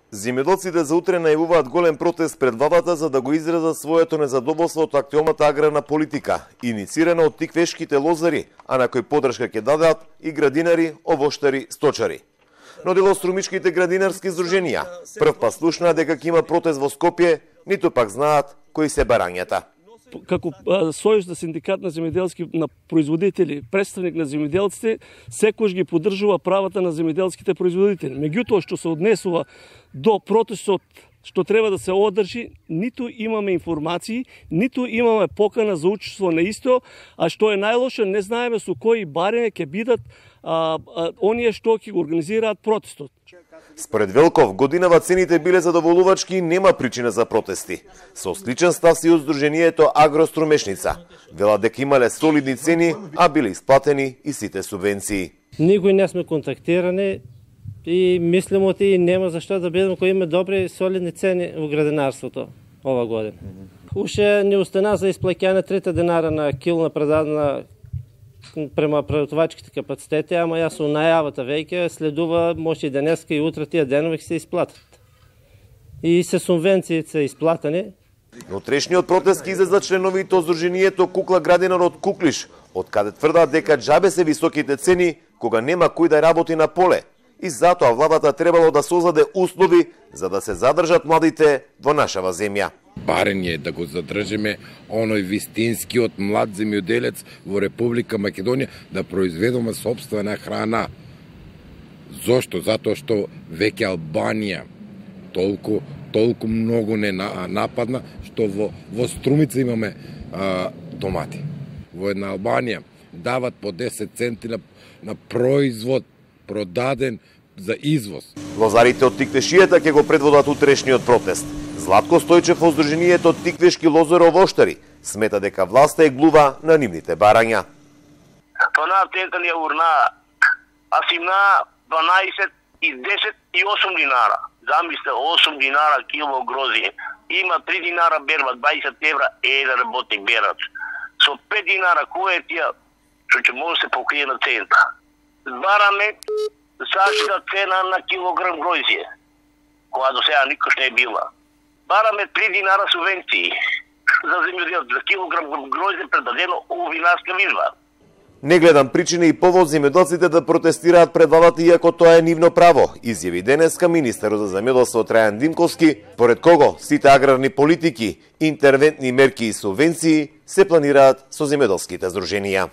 Земјоделците за утре најавуваат голем протест пред владата за да го изразат своето незадоволство од актуелната аграрна политика, иницирана од тиквешките лозари, а на кој поддршка ќе дадат и градинари, овоштари, сточари. Но дел од струмичките градинарски здруженија прв пат слушнаа дека ќе има протест во Скопје, ниту пак знаат кои се барањата. Како Сојуз на синдикат на земјоделски на производители, представник на земјоделците, секојаш ги поддржува правата на земјоделските производители. Меѓутоа што се однесува до протестот што треба да се одржи, ниту имаме информации, ниту имаме покана за учество на исто, а што е најлошо, не знаеме со кои барење ќе бидат оние што ќе го организираат протестот. Според Велков, годинава цените биле задоволувачки и нема причина за протести. Со сличен став си од Сдруженијето Агрострумешница. Велат дека имале солидни цени, а биле исплатени и сите субвенции. Никој не сме контактирани и мислимо и нема зашто да бидеме кои има добри солидни цени во градинарството ова година. Уште не остана за исплаќање 3 динара на кило на продадена према преработвачките капацитети, ама јас со најавата веќе следува, може и денеска и утре тие денови ќе се исплатат. И се субвенциите се исплатени. На утрешниот протест ќе излезат членовите од Сдруженијето Кукла Градинар од Куклиш, од каде тврдат дека џабе се високите цени кога нема кој да работи на поле. И затоа владата требало да создаде услови за да се задржат младите во нашава земја. Барење да го задржиме оној вистинскиот млад земјоделец во Република Македонија да произведеме сопствена храна. Зошто? Затоа што веќе Албанија толку многу не нападна, што во Струмица имаме домати. Во една Албанија дават по 10 центи на производ продаден за извоз. Лозарите од Тиквешијата ќе го предводат утрешниот протест. Златко Стојчев од Сдруженијето Тиквешки лозаро-овоштари смета дека власта е глува на нивните барања. Тоа тенталија урна, а симна 12 и 10 и 8 динара. Замисле 8 динара кило грозие. Има 3 динара берба, 20 евра еден работник берач. Со 5 динара кој е тие што ќе може се покрие на цента. Бараме сашта цена на килограм грозие, која до сега никош не е била. Бараме 3 динара субвенции за земјоделец, за килограм грозде предадено у винарска изба. Не гледам причина и повод земјоделците да протестираат пред владата, иако тоа е нивно право, изјави денеска министерот за земјоделство Трајан Димковски, поред кого сите аграрни политики, интервентни мерки и субвенции се планираат со земјоделските здруженија.